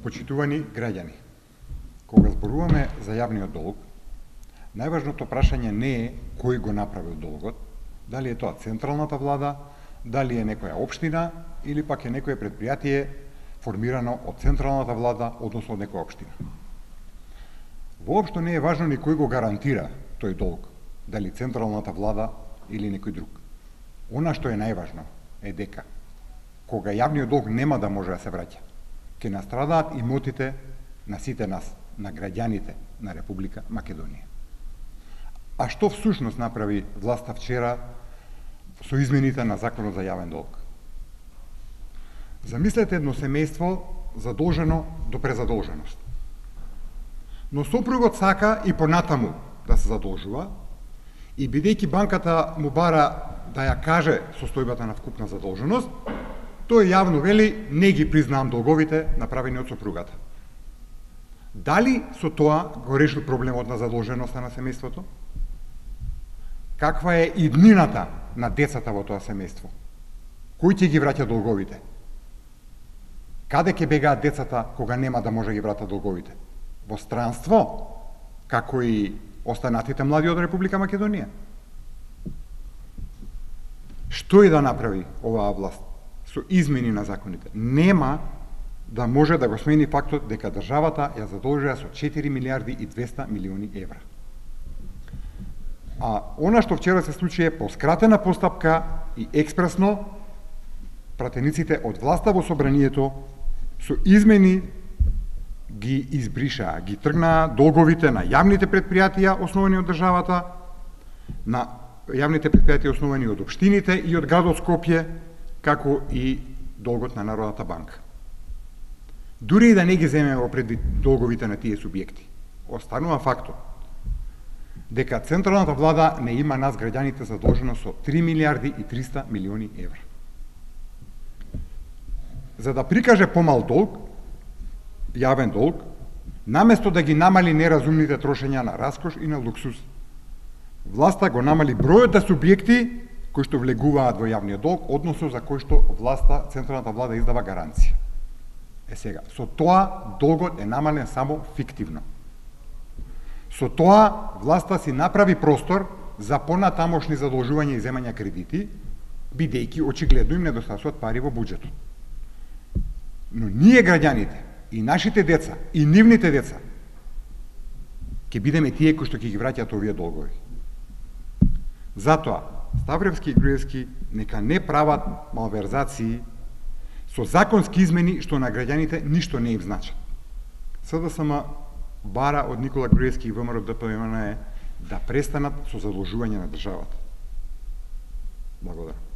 Почитувани граѓани, кога зборуваме за јавниот долг, најважното прашање не е кој го направил долгот, дали е тоа централната влада, дали е некоја општина или пак е некое предпријатие формирано од централната влада, односно од некоја општина. Воопшто не е важно ни кој го гарантира тој долг, дали централната влада или некој друг. Она што е најважно е дека кога јавниот долг нема да може да се враќа, ќе настрадаат имотите на сите нас, на граѓаните на Република Македонија. А што всушност направи власта вчера со измените на Законот за јавен долг? Замислете едно семејство задолжено до презадолженост. Но сопругот сака и понатаму да се задолжува и бидејќи банката му бара да ја каже состојбата на вкупна задолженост, тој јавно вели не ги признавам долговите направени од сопругата. Дали со тоа го решил проблемот на задолженоста на семејството? Каква е иднината на децата во тоа семејство? Кој ќе ги враќа долговите? Каде ќе бегаат децата кога нема да може да ги врата долговите? Во странство, како и останатите млади од Република Македонија. Што и да направи оваа власт со измени на законите, нема да може да го смени фактот дека државата ја задолжува со 4 милиарди и 200 милиони евра. А она што вчера се случи е по скратена постапка и експресно пратениците од власта во собранието со измени ги избришаа, ги тргнаа долговите на јавните предпријатија основани од државата, на јавните предпријатија основани од општините и од градот Скопје, како и долгот на Народната банка. Дури и да не ги земеме во предвид долговите на тие субјекти, останува фактот дека централната влада не има нас граѓаните задолжено со 3 милиарди и 300 милиони евра. За да прикаже помал долг, јавен долг, наместо да ги намали неразумните трошења на раскош и на луксуз, власта го намали бројот на субјекти кои што влегуваат во јавниот долг, односно за кои што власта, централната влада издава гаранција. Сега, со тоа долгот е намален само фиктивно. Со тоа власта си направи простор за понатамошни задолжувања и земања кредити, бидејќи очигледно им недостасуваат пари во буџетот. Но ние граѓаните, и нашите деца, и нивните деца, ќе бидеме тие кои што ќе ги враќаат овие долгови. Затоа, Ставревски и Груевски нека не прават малверзации со законски измени што на граѓаните ништо не им значат. СДСМ бара од Никола Груевски и ВМРО ДПМН да престанат со задолжување на државата. Благодарам.